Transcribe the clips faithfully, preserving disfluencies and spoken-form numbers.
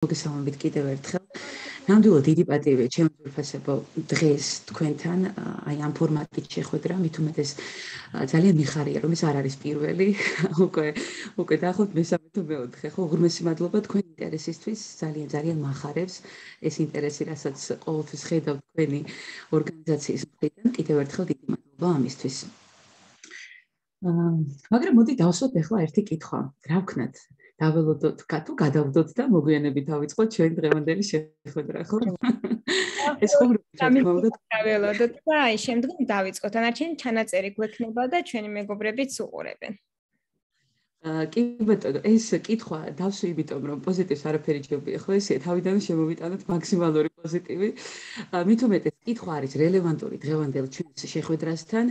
მოგესალმებით კიდევ ერთხელ. ნამდვილად დიდი პატივია ჩემს უფასებო დღეს თქვენთან აი ამ ფორმატით შეხვედრა, მით უმეტეს ძალიან მიხარია რომ ეს არ არის პირველი, უკვე უკვე დაახლოებით მესამე თუ მეოთხე, ხო, უღრმესი მადლობა თქვენი ინტერესისთვის, ძალიან ძალიან მახარებს ეს ინტერესი, რასაც ყოველთვის ხედავ თქვენი ორგანიზაციის მხრიდან, კიდევ ერთხელ დიდი მადლობა ამისთვის. მაგრამ მოდი დავსვათ ახლა ერთი კითხვა, რა ვქნათ? დაველოდოთ, თუ გადავდოთ და მოგვიანებით დავიწყოთ ჩვენ დღევანდელი შეხვედრა, ხო? ეს ხუმრობთ რა თქმა უნდა. დაველოდოთ და აი შემდგომ დავიწყოთ. ანარჩენი ჩანაწერი გვექნება და ჩვენი მეგობრებიც უყურებენ. კი ბატონო, ეს კითხვა დავსვი იმიტომ რომ პოზიტივს არაფერი ჯობია, ხო ესე თავიდან შემოვიტანოთ მაქსიმალური პოზიტივი. მით უმეტეს კითხვა არის რელევანტური დღევანდელ ჩვენს შეხვედრასთან.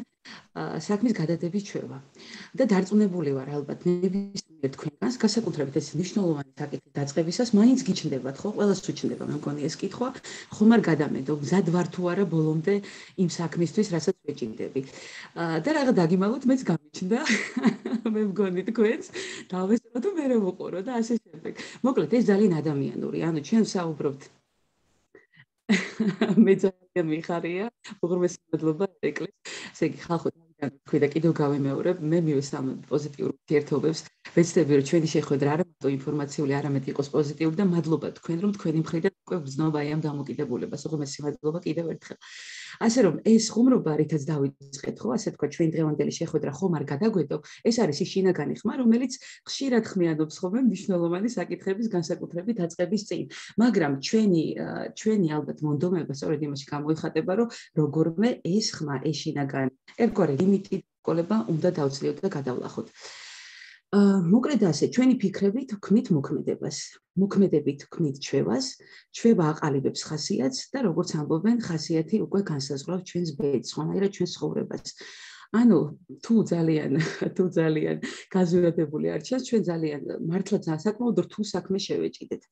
საქმის გადადების ჩვევა და დარწმუნებული ვარ ალბათ ნებისმიერ თქვენგანს განსაკუთრებით ეს მნიშვნელოვანი საკითხი დაწყებისას მაინც გიჩნდებათ ხო ყველას უჩნდება მე მგონი ეს კითხვა ხომ არ გადამედო მზად ვარ თუ არა ბოლომდე იმ საქმისთვის რასაც ვეჭირდები და რაღაც დაგიმალოთ მეც გამიჩნდა მე მგონი თქვენს დავესწრო თუ მე ვუყურო და ასე შემდეგ მოკლედ ეს ძალიან ადამიანური ანუ ჩვენ ვსაუბრობთ მე ძალიან მიხარია უღრმესი მადლობა ეკლეს ესე იგი ხალხო თქვი და კიდევ გავიმეორებ მე მივესალმ პოზიტიურ ურთიერთობებს ვეცდები რომ ჩვენი შეხვედრა არა მარტო ინფორმაციული არამედ იყოს პოზიტიური და მადლობა თქვენ რომ თქვენი მხრიდან უკვე გრძნობა აი ამ დამოკიდებულებას უღრმესი მადლობა კიდევ ერთხელ ასე რომ ეს ხუმრობა რითაც დავიწყეთ ხო ასე თქვა ჩვენ დღევანდელი შეხვედრა ხომ არ გადაგვედო ეს არის ის შინაგანი ხმა რომელიც ხშირად ხმიანობს ხოლმე მნიშვნელოვანი საკითხების განსაკუთრებით დაწყების წინ მაგრამ ჩვენი ჩვენი ალბათ მონდომება სწორედ იმაში გამოიხატება რომ როგორმე ეს ხმა ეს შინაგანი ერთგვარი ლიმიტი ყოლება უნდა დავწლიოთ და გადავლახოთ მოკლედ ასე ჩვენი ფიქრებით ვქმნით მოქმედებას მოქმედებით ვქმნით ჩვევას ჩვევა აყალიბებს ხასიათს და როგორც ამბობენ ხასიათი უკვე განსაზღვრავს ჩვენს ბედს ხანაირად ჩვენს ცხოვრებას ანუ თუ ძალიან თუ ძალიან გაზვირადებული არ ჩანს ჩვენ ძალიან მართლაც საკმაოდ რთულ საქმეს შევეჭიდეთ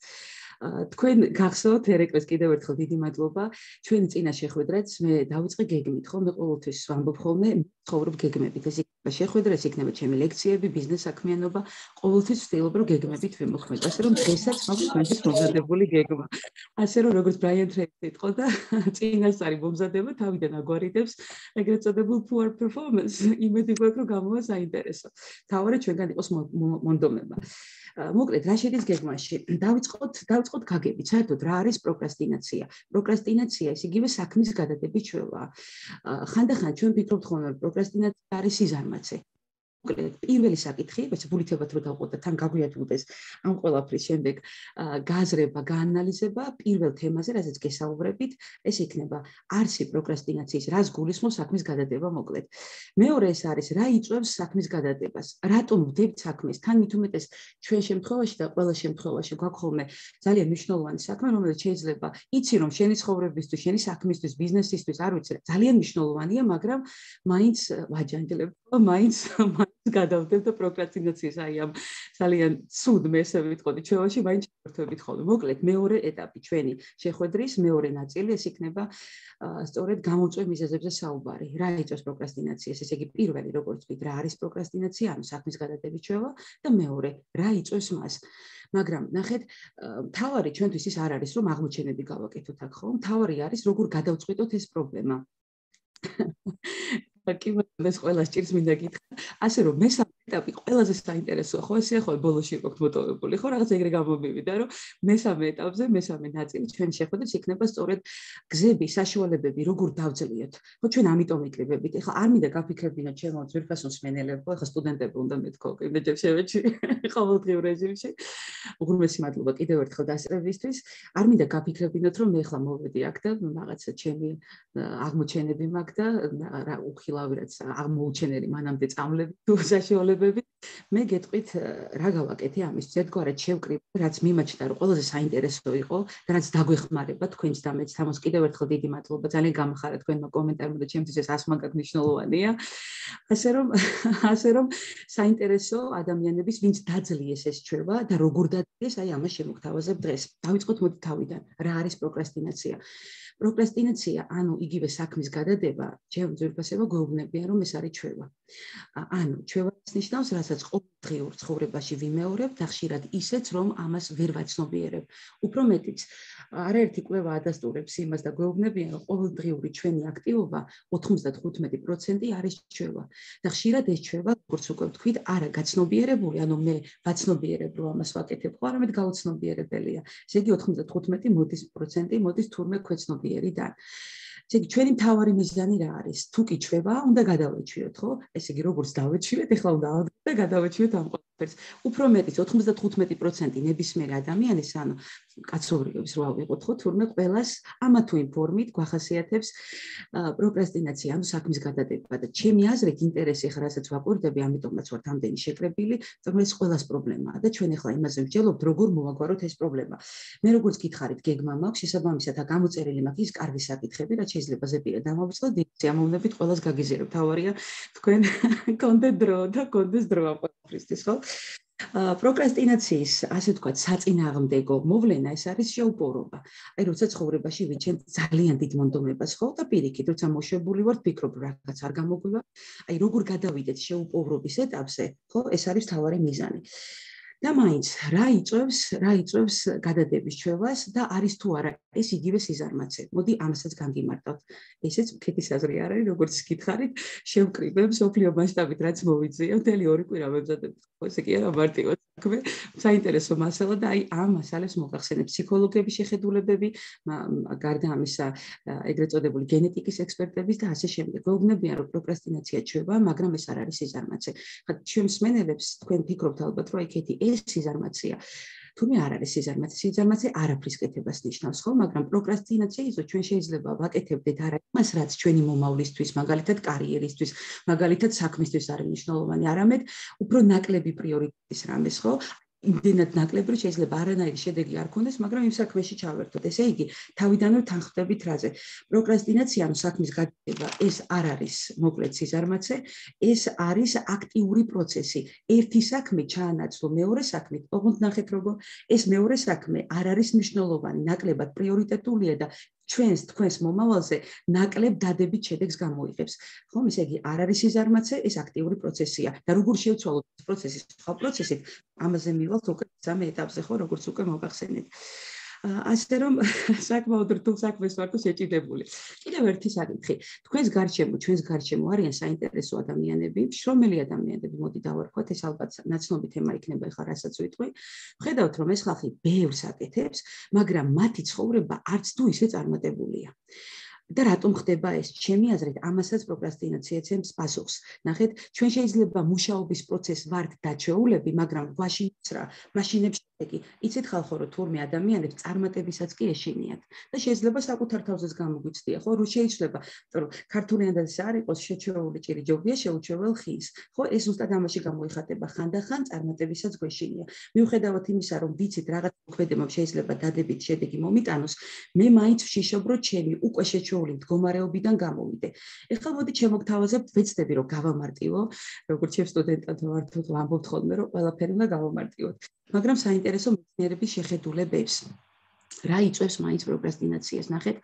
თქვენ გახსოვთ ერეკლეს კიდევ ერთხელ დიდი მადლობა ჩვენი წინა შეხვედრაც მე დავიწყე გეგმით ხო მე ყოველთვის ვამბობ ხოლმე ცხოვრობ გეგმებით ეს იქნება შეხვედრა ეს იქნება ჩემი ლექციები ბიზნეს საქმიანობა ყოველთვის ვცდილობ რომ გეგმებით ვიმოქმედო ასე რომ დღესაც მაქვს თქვენთვის მომზადებული გეგმა ასე რომ როგორც ბრაიან ტრეისი იყო და წინასწარი მომზადება თავიდან აგვარიდებს ეგრეთ წოდებულ poor performance იმედი გვაქვს რომ გამოვა საინტერესო თავარი ჩვენგან იყოს მონდომება მოკლედ რა შედის გეგმაში დავიწყოთ დავიწყოთ გაგებით საერთოდ რა არის პროკრასტინაცია პროკრასტინაცია ის იგივე საქმის გადადების ჩვევაა ხანდახან ჩვენ ვფიქრობთ ხოლმე რომ პროკრასტინაცია არის სიზარმაცე მოკლედ პირველი საკითხი ეს ბულითებად რო დავყოთ და თან გაგვიათვდეს ამ ყველაფრის შემდეგ გააზრება გაანალიზება პირველ თემაზე რასაც გესაუბრებით ეს იქნება არსი პროკრასტინაციის რას გულისხმობს საქმის გადადება მოკლედ მეორე ეს არის რა იწვევს საქმის გადადებას რატომ ვდებთ საქმეს თან მით უმეტეს ჩვენ შემთხვევაში და ყველა შემთხვევაში გვაქვს ხოლმე ძალიან მნიშვნელოვანი საქმე რომელიც შეიძლება იცი რომ შენი ცხოვრებისთვის შენი საქმისთვის ბიზნესისთვის არ ვიცი ძალიან მნიშვნელოვანია მაგრამ მაინც ვაჯანჯლებ მაინც გადავდებ და პროკრასტინაციის აი ამ ძალიან ცუდ მე ესე ვიტყოდი ჩვევაში მაინც შევერთვებით ხოლმე მოკლედ მეორე ეტაპი ჩვენი შეხვედრის მეორე ნაწილი ეს იქნება სწორედ გამოწვევ მიზეზებზე საუბარი რა იწვევს პროკრასტინაციას ესე იგი პირველი როგორც ვთქვით რა არის პროკრასტინაცია ანუ საქმის გადადების ჩვევა და მეორე რა იწვევს მას მაგრამ ნახეთ მთავარი ჩვენთვის ის არ არის რომ აღმოჩენები გავაკეთოთ აქ ხო მთავარი არის როგორ გადავწყვიტოთ ეს პრობლემა კი ეს ყველა სჭირს მინდა გითხრა ასე რომ მესამე ეტაპი ყველაზე საინტერესოა ხო ესე ხო ბოლოში ვიყავთ მოტოვებული ხო რაღაც ეგრე გამომივიდა რომ მესამე ეტაპზე მესამე ნაწილი ჩვენ შეხვედრით იქნება სწორედ გზები საშუალებები როგორ დავძლიოთ ხო ჩვენ ამიტომ იკრიბებით ეხლა არ მინდა გაფიქრებინოთ ჩემო ძვირფასო მსმენელებს ხო ეხლა სტუდენტები უნდა მეთქო იმეჯერ შევეჩი ყოველდღიურ რეჟიმში უღრმესი მადლობა კიდევ ერთხელ დასწრებისთვის არ მინდა გაფიქრებინოთ რომ მე ეხლა მოვედი აქ და რაღაცა ჩემი აღმოჩენები მაქვს და რა უხილავი რაც აღმოუჩენელი მანამდე წამლები თუ საშუალებები მე გეტყვით რა გავაკეთე ამის ერთგვარად შევკრიბ რაც მიმაჩნდა რომ ყველაზე საინტერესო იყო და რაც დაგვეხმარება თქვენს და მეც თამოს კიდევ ერთხელ დიდი მადლობა ძალიან გამხარა თქვენმა კომენტარმა და ჩემთვის ეს ასმაგად მნიშვნელოვანია ასე რომ ასე რომ საინტერესო ადამიანების ვინც დაძლიეს ეს ჩვევა და როგორ დაძლიეს აი ამას შემოგთავაზებ დღეს დავიწყოთ მოდი თავიდან რა არის პროკრასტინაცია პროკრასტინაცია, ანუ იგივე საქმის გადადება, ჩემ ძვირფასება გვეუბნებიან, რომ ეს არის ჩვევა. ანუ ჩვევა ნიშნავს, რასაც რომელსაც ყოველდღიურ ცხოვრებაში ვიმეორებ და ხშირად ისეც, რომ ამას ვერ ვაცნობიერებ. უფრო მეტიც, არაერთი კვლევა ადასტურებს იმას და გვეუბნებიან, რომ ყოველდღიური ჩვენი აქტივობა ოცდახუთმეტი პროცენტი არის ჩვევა. და ხშირად ეს ჩვევა, როგორც უკვე ვთქვით, არა გაცნობიერებული, ანუ მე ვაცნობიერებ, რომ ამას ვაკეთებ, ხო, არამედ გაუცნობიერებელია. ესე იგი ოცდახუთმეტი პროცენტი მოდის თურმე ქვეცნობიერიდან. ესე იგი ჩვენი მთავარი მიზანი რა არის? თუ კი ჩვევა, უნდა გადავეჩვიოთ, ხო? ესე იგი როგორც დავეჩვიეთ, ეხლა უნდა ავდგეთ და გადავეჩვიოთ ამ ყველაფერს. უფრო მეტიც ოცდახუთმეტი პროცენტი ნებისმიერ ადამიანის, ანუ კაცობრიობის რა ვიყოთ, ხო, თურმე ყველას ამა თუ იმ ფორმით გვახასიათებს პროკრასტინაცია, ანუ საქმის გადადება და ჩემი აზრით ინტერესი ხარ, რასაც ვაკვირდები, ამიტომაც ვართ ამდენი შეკრებილი, რომ ეს ყველას პრობლემაა და ჩვენ ახლა იმაზე ვჯელობთ, როგორ მოვაგვაროთ ეს პრობლემა. მე როგორც გითხარით, გეგმა მაქვს, შესაბამისად, გამოწერილი მაქვს ის კარგი საკითხები, რაც შეიძლება ზეპირად დამოვიწყოთ, სიამოვნებით ყველას გაგიზიარებ. თავარია თქვენ გქონდეთ დრო და გქონდეს დრო ამ ყველაფრისთვის, ხო? პროკრასტინაციის, ასე ვთქვათ, საწინააღმდეგო მოვლენა ეს არის შეუპოვრობა. აი, როცა ცხოვრებაში ვიჩენთ ძალიან დიდ მონდომებას, ხო, და პირიქით, როცა მოშვებული ვართ, ფიქრობ, რაღაც არ გამოგვივა. აი, როგორ გადავიდეთ შეუპოვრობის ეტაპზე, ხო, ეს არის მთავარი მიზანი. და მაინც რა იწვევს, რა იწვევს გადადების ჩვევას და არის თუ არა ეს იგივე სიზარმაცე. მოდი ამასაც განგიმარტავთ. ესეც მკეთის აზრი არ არის, როგორც გითხარით, შევკრიბებ სოფლიო მასშტაბით რაც მოვიძიე, მთელი ორი კვირა ვებზადებ. ესე კი არა მარტივად საქმე, საინტერესო მასალა და აი ამ მასალებს მოგახსენებ ფსიქოლოგების შეხედულებები, გარდა ამისა ეგრეთ წოდებული გენეტიკის ექსპერტების და ასე შემდეგ. გვეუბნებიან, რომ პროკრასტინაცია ჩვევა, მაგრამ ეს არ არის სიზარმაცე. ხა ჩვენ მსმენელებს თქვენ ფიქრობთ ალბათ, რომ იქეთი ეს სიზარმაცეა. თუმცა არ არის სიზარმაცე, სიზარმაცე არაფრის კეთებას ნიშნავს, ხო, მაგრამ პროკრასტინაცია ისო ჩვენ შეიძლება ვაკეთებდეთ არა იმას, რაც ჩვენი მომავლისთვის, მაგალითად კარიერისთვის, მაგალითად საქმისთვის არის მნიშვნელოვანი, არამედ უფრო ნაკლები პრიორიტეტის რამეს, ხო? იმდენად ნაკლები, რომ შეიძლება არანაირი შედეგი არ ქონდეს, მაგრამ იმ საქმეში ჩავერთოთ. ესე იგი, თავიდანვე თანხმდებით რაზე? პროკრასტინაცია, ანუ საქმის გადადება, ეს არ არის მოკლედ სიზარმაცე, ეს არის აქტიური პროცესი. ერთი საქმე ჩაანაცვლო მეორე საქმით, ოღონდ ნახეთ როგორ ეს მეორე საქმე არ არის მნიშვნელოვანი, ნაკლებად პრიორიტეტულია და ჩვენს თქვენს მომავალზე ნაკლებ დადებით შედეგს გამოიღებს. ხომ, ესე იგი, არ არის სიზარმაცე, ეს აქტიური პროცესია. და როგორ შევცვალოთ ეს პროცესი სხვა პროცესით, ამაზე მივალთ უკვე სამე ეტაპზე, ხო, როგორც უკვე მოგახსენეთ. ასე რომ საკმაოდ რთულ საქმეს ვართ შეჭიდებული. კიდევ ერთი საკითხი. თქვენს გარშემო, ჩვენს გარშემო არიან საინტერესო ადამიანები, შრომელი ადამიანები, მოდი დავარქვათ, ეს ალბათ ნაცნობი თემა იქნება ახლა, რასაც ვიტყვი. ვხედავთ, რომ ეს ხალხი ბევრს აკეთებს, მაგრამ მათი ცხოვრება არც თუ ისე წარმატებულია. და რატომ ხდება ეს? ჩემი აზრით, ამასაც პროკრასტინაცია ემს პასუხს. ნახეთ, ჩვენ შეიძლება მუშაობის პროცესს ვართ დაჩეულები, მაგრამ გვაშინებს რა, მაშინებს შედეგი. იცით ხალხო, რომ თურმე ადამიანებს წარმატებისაც კი ეშინიათ და შეიძლება საკუთარ თავზეც გამოგვიცდია, ხო? რო შეიძლება, რომ ქართული ანდაზი არ იყოს შეჩეული ჭირი ჯობია შეუჩეվել ხის. ხო, ეს ზუსტად ამაში გამოიხატება, ხანდახან წარმატებისაც გვეშინია. მიუხედავად იმისა, რომ ვიცით რაღაც მოქმედებამ შეიძლება დადებით შედეგი მომიტანოს, მე მაინც ვშიშობ, რომ ჩემი უკვე შეჩეული მდგომარეობიდან გამოვიდე. ეხლა მოდი ჩემოგთავაზებთ, ვეცდები რომ გავამარტივო, როგორც ჩემ სტუდენტად ვართ, ვამბობთ ხოლმე, რომ ყველაფერი უნდა გავამარტივოთ. მაგრამ საინტერესო მეცნიერების შეხედულებებს. რა იწვევს მაინც პროკრასტინაციას? ნახეთ,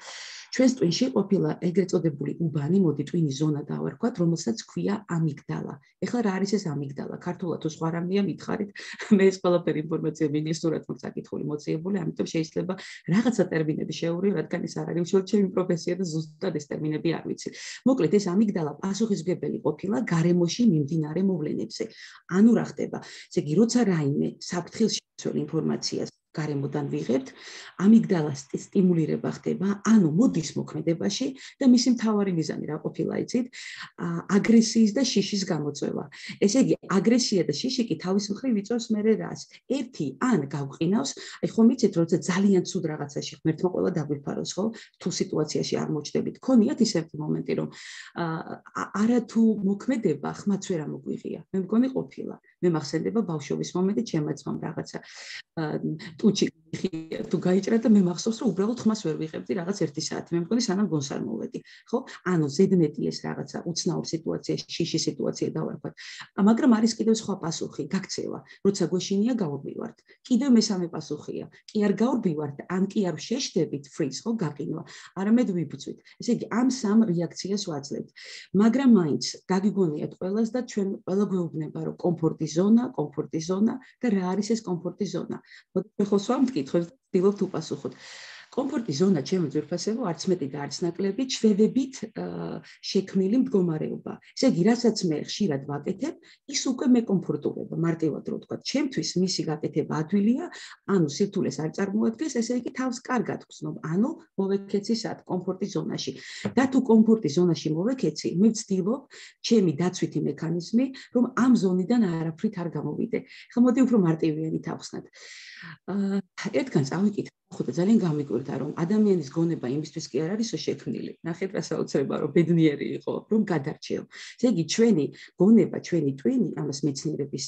ჩვენს ტვინში ყოფილა ეგრეთ წოდებული უბანი, მოდი ტვინის ზონა დავარქვათ, რომელსაც ქვია ამიგდალა. ეხლა რა არის ეს ამიგდალა? ქართულად თუ სხვა რამეა მითხარით, მე ეს ყველაფერი ინფორმაცია მინისტრად მაქვს საკითხული მოწიებული, ამიტომ შეიძლება რაღაცა ტერმინები შევურივ, რადგან ეს არ არის უშუალოდ ჩემი პროფესია და ზუსტად ეს ტერმინები არ ვიცი. მოკლედ, ეს ამიგდალა პასუხისმგებელი ყოფილა გარემოში მიმდინარე მოვლენებზე. ანუ რა ხდება? ესე იგი, როცა რაიმე საფრთხილს შეცვალ ინფორმაციას გარემოდან ვიღებთ, ამიგდალას სტიმულირება ხდება, ანუ მოდის მოქმედებაში და მისი მთავარი მიზანი რა ყოფილა, იცით? აგრესიის და შიშის გამოწვევა. ესე იგი, აგრესია და შიში კი თავის მხრივ იწვევს მერე რას? ერთი ან გავყინავს, აი ხომ იცით, როცა ძალიან ცუდ რაღაცაში ღმერთმა ყველა დაგვიფაროს, ხო? თუ სიტუაციაში არ მოჩდებით, ქონიათ ისეთი მომენტი, რომ არა თუ მოქმედება ხმაც ვერ ამოგვიღია. მე მგონი ყოფილა. მე მახსენდება ბავშვობის მომენტი, ჩემმა ძმამ რაღაცა სტუჩი თუ გაიჭრა და მე მახსოვს რომ უბრალოდ ხმას ვერ ვიღებდი რაღაც ერთი საათი. მე მგონი სანამ გონს არ მოვედი. ხო? ანუ ზედმეტი ეს რაღაცა უცნაურ სიტუაციაში, შიში სიტუაცია დავარქვათ. მაგრამ არის კიდევ სხვა პასუხი, გაქცევა. როცა გვეშინია გავურბივართ. კიდევ მესამე პასუხია. კი არ გავურბივართ, ან კი არ შეშდებით freeze, ხო, გაყინვა. არამედ ვიბრძვით. ესე იგი, ამ სამ რეაქციას ვაძლევთ. მაგრამ მაინც გაგიგონიათ ყველას და ჩვენ ყველა გვეუბნება, რომ კომფორტის ზონა, კომფორტის ზონა და რა არის ეს კომფორტის ზონა. მოდით ხო სვამ მკითხვებს და ვცდილობთ უპასუხოთ. კომფორტის ზონა ჩემო ძვირფასებო არც მეტი და არც ნაკლები ჩვევებით შექმნილი მდგომარეობა. ესე იგი, რასაც მე ხშირად ვაკეთებ, ის უკვე მე კომფორტულობა, მარტივად რო ვთქვა. ჩემთვის მისი გაკეთება ადვილია, ანუ სირთულეს არ წარმოადგენს, ესე იგი თავს კარგად ვგრძნობ, ანუ მოვექეცი სად კომფორტის ზონაში. და თუ კომფორტის ზონაში მოვექეცი, მე ვცდილობ ჩემი დაცვითი მექანიზმი, რომ ამ ზონიდან არაფრით არ გამოვიდე. ხა მოდი უფრო მარტივიანით ავხსნათ. ერთგან წავიკითხე, ხო და ძალიან გამიკვირდა, რომ ადამიანის გონება იმისთვის კი არ არისო შექმნილი. ნახეთ რა საოცრება, რომ ბედნიერი იყო, რომ გადარჩეო. ესე იგი, ჩვენი გონება, ჩვენი ტვინი, ამას მეცნიერების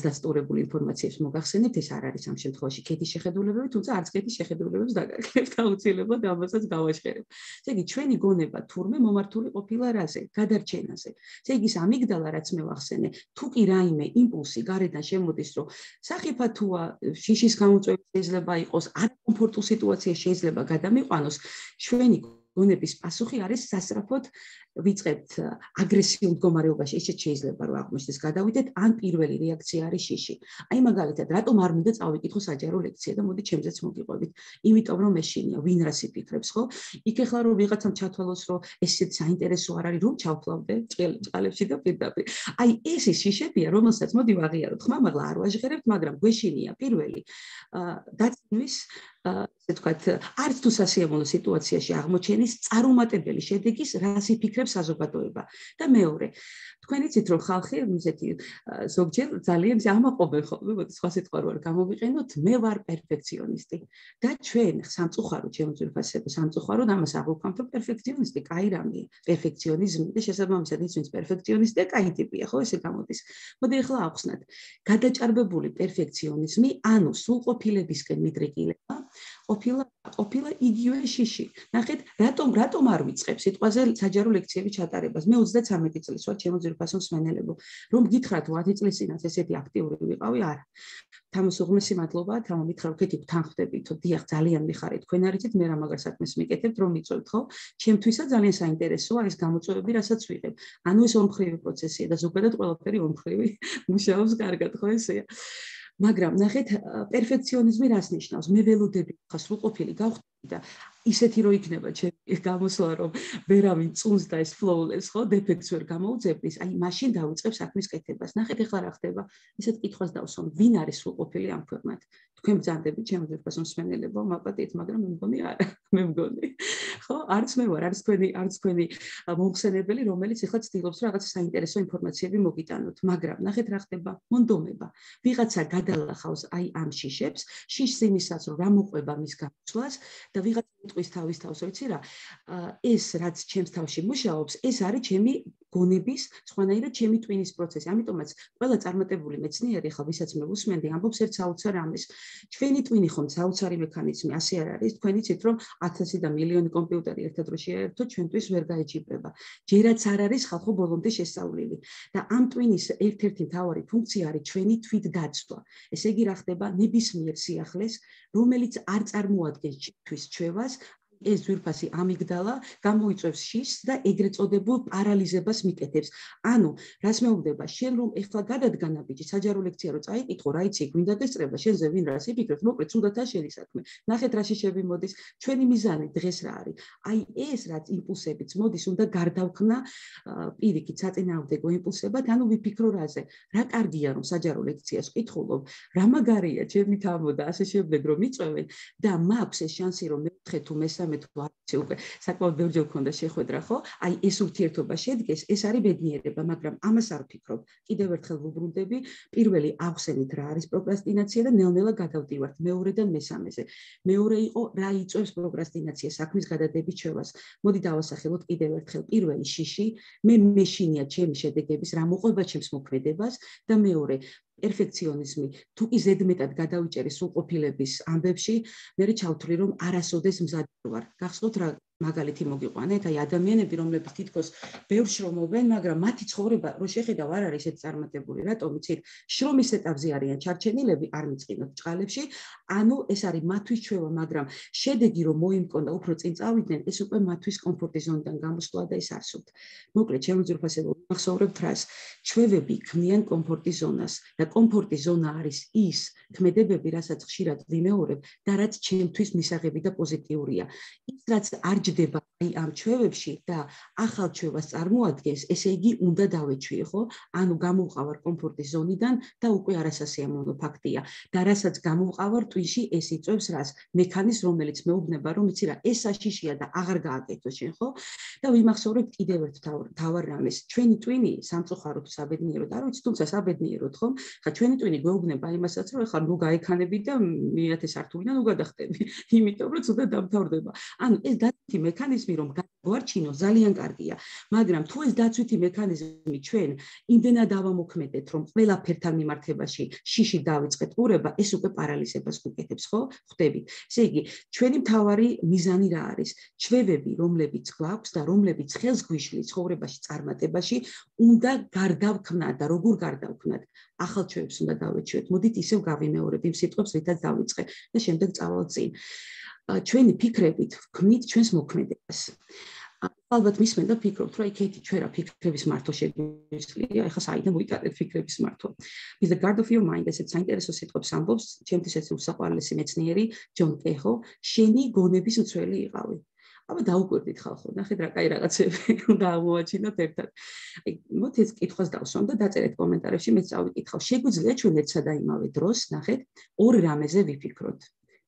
დასტურებული ინფორმაციებს მოგახსენებთ, ეს არ არის ამ შემთხვევაში ქეთის შეხედულებები, თუმცა არც ქეთის შეხედულებებს დაგაკეთებთ აუცილებლად ამასაც გავაშხერებ. ესე იგი, ჩვენი გონება თურმე მომართული ყოფილა რაზე? გადარჩენაზე. ესე იგი, ეს ამიგდალა, რაც მე ვახსენე, თუ კი რაიმე იმპულსი გარედან შემოდის, რომ სახიფათოა, შიშის გამოწვევა შეიძლება იყოს, არაკომფორტულ სიტუაციაში შეიძლება გადამიყვანოს, ჩვენი გონების პასუხი არის სასწრაფოდ ვიწყებთ აგრესიულ მდგომარეობაში, ისე შეიძლება რომ აღმოჩნდეს გადავიდეთ, ან პირველი რეაქცია არის შიში. აი მაგალითად, რატომ არ მინდა წავიკითხო საჯარო ლექცია და მოდი ჩემზეც მოგიყვებით. იმიტომ რომ მეშინია, ვინ რას იფიქრებს, ხო? იქ ახლა რომ ვიღაცამ ჩათვალოს, რომ ესეც საინტერესო არ არის, რომ ჩავფლავდე წყალებში და პირდაპირ. აი ეს ის შიშებია, რომელსაც მოდი ვაღიაროთ. ხმა მაღლა არ ვაჟღერებთ, მაგრამ გვეშინია პირველი დაცინვის ესე ვთქვათ, არც თუ სასიამოვნო სიტუაციაში აღმოჩენის წარუმატებელი შედეგის, რას იფიქრებს საზოგადოება. და მეორე, თქვენ იცით რომ ხალხი ისეთი ზოგჯერ ძალიან ამაყობენ ხოლმე, მოდი სხვა სიტყვა რო არ გამოვიყენოთ, მე ვარ პერფექციონისტი. და ჩვენ სამწუხაროდ ჩემო ძვირფასებო, სამწუხაროდ ამას აღვქვამთ, რომ პერფექციონისტი კაი რამეა, პერფექციონიზმი და შესაბამისად ის ვინც პერფექციონისტია, კაი ტიპია, ხო, ესე გამოდის. მოდი ახლა ავხსნათ. გადაჭარბებული პერფექციონიზმი, ანუ სრულყოფილებისკენ მიდრეკილება, ყოფილა ყოფილა იგივე შიში. ნახეთ, რატომ რატომ არ ვიწყებ სიტყვაზე საჯარო ლექციები ჩატარებას? მე ოცდათერთმეტი წლის ვარ, ჩემო ძვირფასო მსმენელებო. რომ გითხრათ ათი წლის წინათ ესეთი აქტიური ვიყავი, არა. თამის უღმესი მადლობა, თამო მითხრა რომ ქეთი თანხდებით, დიახ, ძალიან მიხარით. თქვენ არიცით, მე რა მაგარ საქმეს მიკეთებთ, რომ მიწვევთ, ხო? ჩემთვისაც ძალიან საინტერესოა ეს გამოწვევები, რასაც ვიღებ. ანუ ეს ორმხრივი პროცესია და ზოგადად ყველაფერი ორმხრივი მუშაობს კარგად, ხო ესეა? მაგრამ ნახეთ, პერფექციონიზმი რას ნიშნავს? მე ველოდები ხა სრულყოფილი გავხდები და ისეთი რო იქნება ჩემი გამოსვლა, რომ ვერავინ წუნს და ეს flawless, ხო, დეფექტს ვერ გამოუძებნის, აი მაშინ დავიწყებ საქმის კეთებას. ნახეთ ახლა რა ხდება. ისეთ კითხვას დავსვამ, ვინ არის სრულყოფილი ამ ქვეყნად? თქვენ ბრძანდებით ჩემო ძვირფასო მსმენელებო, მაპატიეთ, მაგრამ მე მგონი არა, მე მგონი. ხო, არც მე ვარ, არც თქვენი, არც თქვენი მომხსენებელი, რომელიც ახლა ცდილობს რაღაც საინტერესო ინფორმაციები მოგიტანოთ, მაგრამ ნახეთ რა ხდება. მონდომება. ვიღაცა გადალახავს აი ამ შიშებს, შიშს იმისაც, რომ რა მოყვება მის გამოსვლას და ვიღაცა იტყვის თავის თავს, ვიცი რა, ეს რაც ჩემს თავში მუშაობს, ეს არის ჩემი გონების, სხვანაირად ჩემი ტვინის პროცესი. ამიტომაც ყველა წარმატებული მეცნიერი, ხა ვისაც მე ვუსმენდი, ამბობს ერთ საოცარ ამის. ჩვენი ტვინი ხომ საოცარი მექანიზმი, ასე არ არის? თქვენ იცით, რომ ათასი და მილიონი კომპიუტერი ერთად რო შეერთო, ჩვენთვის ვერ გაეჯიბრება. ჯერაც არ არის ხალხო ბოლომდე შესწავლილი. და ამ ტვინის ერთ-ერთი მთავარი ფუნქცია არის ჩვენი თვითდაცვა. ესე იგი, რა ხდება ნებისმიერ სიახლეს, რომელიც არ წარმოადგენს ჩვენთვის ჩვევას, ეს ძვირფასი ამიგდალა გამოიწვევს შიშს და ეგრეთ წოდებულ პარალიზებას მიკეთებს. ანუ, რას მეუბნება, შენ რომ ეხლა გადადგანა ბიჭი, საჯარო ლექცია რო წაიკითხო, რა იცი, გვინდა გესწრება, შენზე ვინ რას იფიქრებს, მოკლედ, თუნდაც შენი საქმე. ნახეთ რა შიშები მოდის, ჩვენი მიზანი დღეს რა არის? აი ეს რაც იმპულსებიც მოდის, უნდა გარდავქმნა პირიქით საწინააღმდეგო იმპულსებად, ანუ ვიფიქრო რაზე? რა კარგია რომ საჯარო ლექციას ვკითხულობ, რა მაგარია ჩემი თამო და ასე შემდეგ რომ მიწვევენ და მაქვს ეს შანსი რომ მეოთხე თუ მესამე თუ არცი უკვე საკმაოდ ბევრჯერ მქონდა შეხვედრა, ხო? აი ეს ურთიერთობა შედგეს, ეს არის ბედნიერება, მაგრამ ამას არ ვფიქრობ. კიდევ ერთხელ ვუბრუნდები, პირველი ავხსენით რა არის პროკრასტინაცია და ნელ-ნელა გადავდივართ მეორედან მესამეზე. მეორე იყო რა იწვევს პროკრასტინაცია, საქმის გადადების ჩვევას. მოდი დავასახელოთ კიდევ ერთხელ. პირველი შიში, მე მეშინია ჩემი შედეგების, რა მოყვება ჩემს მოქმედებას და მეორე პერფექციონიზმი თუ კი ზედმეტად გადავიჭერი სრულყოფილების ამბებში, მე ჩავთვლი რომ არასოდეს მზად ვარ. გახსოვთ რა მაგალითი მოგიყვანეთ, აი ადამიანები, რომლებიც თითქოს ბევრ შრომობენ, მაგრამ მათი ცხოვრება რო შეხედავ არ არის ეს წარმატებული, რატომ იცით? შრომის ეტაპზე არიან ჩარჩენილები, არ მიწყინოთ ჭყალებში, ანუ ეს არის მათთვის ჩვევა, მაგრამ შედეგი რომ მოიმკონდა, უფრო წინ წავიდნენ, ეს უკვე მათთვის კომფორტის ზონიდან გამოსვლა და ეს არსებობთ. მოკლედ, ჩემო ძვირფასებო, მახსოვრებთ რას? ჩვევები ქმნიან კომფორტის ზონას და კომფორტის ზონა არის ის ქმედებები, რასაც ხშირად ვიმეორებ და რაც ჩემთვის მისაღები და პოზიტიურია. ის რაც არ ჯდება აი ამ ჩვევებში და ახალ ჩვევას წარმოადგენს, ესე იგი უნდა დავეჩვიე, ხო? ანუ გამოვყავარ კომფორტის ზონიდან და უკვე არასასიამოვნო ფაქტია. და რასაც გამოვყავარ ტვინში, ეს იწვევს რას? მექანიზმს, რომელიც მეუბნება, რომ იცი რა, ეს საშიშია და აღარ გააკეთო შენ, ხო? და ვიმახსოვრებ კიდევ ერთ თავარ რამეს. ჩვენი ტვინი სამწუხაროდ საბედნიეროდ, არ ვიცი, თუმცა საბედნიეროდ, ხო? ხა ჩვენი ტვინი გვეუბნება იმასაც, რომ ეხლა ნუ გაიქანები და მეათე სართულიდან ნუ გადახტები, იმიტომ რომ ცოტა დამთავრდება. ანუ ეს დაცვითი მექანიზმი რომ გაგვარჩინო ძალიან კარგია, მაგრამ თუ ეს დაცვითი მექანიზმი ჩვენ იმდენად ავამოქმედეთ, რომ ყველაფერთან მიმართებაში შიში დავიწყეთ ყურება, ეს უკვე პარალიზებას გვიკეთებს, ხო? ხვდებით. ესე იგი, ჩვენი მთავარი მიზანი რა არის? ჩვევები, რომლებიც გვაქვს და რომლებიც ხელს გვიშლის ცხოვრებაში, წარმატებაში, უნდა გარდავქმნათ და როგორ გარდავქმნათ? ახალ ჩვევებს უნდა დავეჩვიოთ. მოდით ისევ გავიმეორებ იმ სიტყვებს, რითაც დავიწყე და შემდეგ წავალ წინ. ჩვენი ფიქრებით ვქმნით ჩვენს მოქმედებას. ალბათ მისმენდა ფიქრობთ, რომ იქეთი ჩვენ რა ფიქრების მართვა შეგვიძლია, ეხლა საიდან მოიტანეთ ფიქრების მართვა. Is the guard of your mind, ესეც საინტერესო სიტყვებს ამბობს, ჩემთვის ეს უსაყვარლესი მეცნიერი ჯონ კეხო, შენი გონების მცველი იყავი. აბა დაუკვირდით ხალხო, ნახეთ რა კაი რაღაცები უნდა აღმოაჩინოთ ერთად. აი, მოთ ეს კითხვას დავსვამ და დაწერეთ კომენტარებში, მეც წავიკითხავ. შეგვიძლია ჩვენ ერთსა და იმავე დროს, ნახეთ, ორ რამეზე ვიფიქროთ.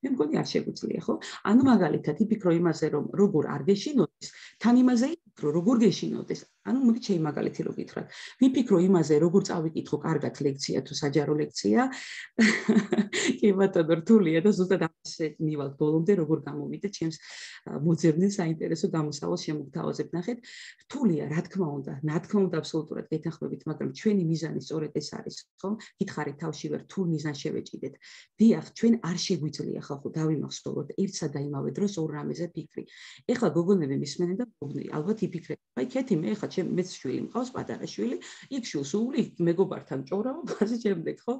მე მგონი არ შეგვიძლია, ხო? ანუ მაგალითად, იფიქრო იმაზე, რომ როგორ არ გეშინოდეს, თან იმაზე იფიქრო, როგორ გეშინოდეს. ანუ მოგით შეი მაგალითი რო გითხრათ. ვიფიქრო იმაზე, როგორ წავიკითხო კარგად ლექცია თუ საჯარო ლექცია. კი ბატონო, რთულია და ზუსტად ამაზე მივალ ბოლომდე როგორ გამოვიდე ჩემს მოძებნილ საინტერესო გამოსავალს შემოგთავაზებ. ნახეთ, რთულია, რა თქმა უნდა, რა თქმა უნდა, აბსოლუტურად გეთანხმებით, მაგრამ ჩვენი მიზანი სწორედ ეს არის, ხო? გითხარით თავში ვერ რთულ მიზანს შევეჭიდეთ. დიახ, ჩვენ არ შეგვიძლია ხალხო დავიმახსოვროთ ერთსა და იმავე დროს ორ რამეზე ფიქრი. ეხლა გოგონები მისმენენ და მოგნი, ალბათ იფიქრეთ. აი, ქეთი მე ეხლა ჩემ მეც შვილი მყავს, პატარა შვილი, იქ შულს უვლი, მეგობართან ჭორავობ, ასე შემდეგ, ხო?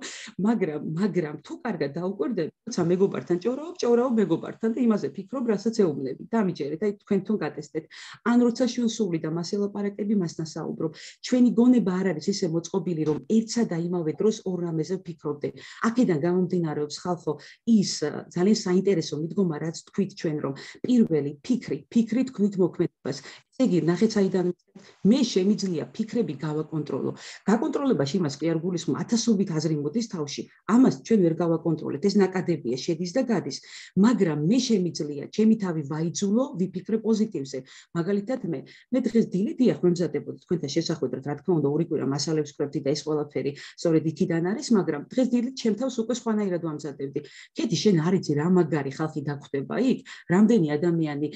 მაგრამ, მაგრამ თუ კარგად დაუკვირდები, როცა მეგობართან ჭორავობ, ჭორავობ მეგობართან და იმაზე ფიქრობ, რასაც ეუბნები. დამიჯერეთ, აი თქვენ თვითონ გატესტეთ. ან როცა შვილს უვლი და მას ელაპარაკები, მას ნასაუბრობ. ჩვენი გონება არ არის ისე მოწყობილი, რომ ერთსა და იმავე დროს ორ რამეზე ვფიქრობდე. აქედან გამომდინარეობს ხალხო ის ძალიან საინტერესო მიდგომა, რაც თქვით ჩვენ, რომ პირველი ფიქრი, ფიქრი თქვით მოქმედებას. ესე იგი, ნახეთ საიდან მე შემიძლია ფიქრები გავაკონტროლო. გაკონტროლებაში იმას კი არ გულისხმობ, ათასობით აზრი მოდის თავში. ამას ჩვენ ვერ გავაკონტროლებთ, ეს ნაკადებია, შედის და გადის. მაგრამ მე შემიძლია ჩემი თავი ვაიძულო, ვიფიქრე პოზიტივზე. მაგალითად მე, მე დღეს დილით დიახ ვემზადებოდი თქვენთან შესახვედრად, რა თქმა უნდა, ორი კვირა მასალებს ვკრებდი და ეს ყველაფერი სწორედ იქიდან არის, მაგრამ დღეს დილით ჩემ თავს უკვე სხვანაირად ვამზადებდი. კეთი, შენ არ იცი რა მაგარი ხალხი დაგვხვდება იქ, რამდენი ადამიანი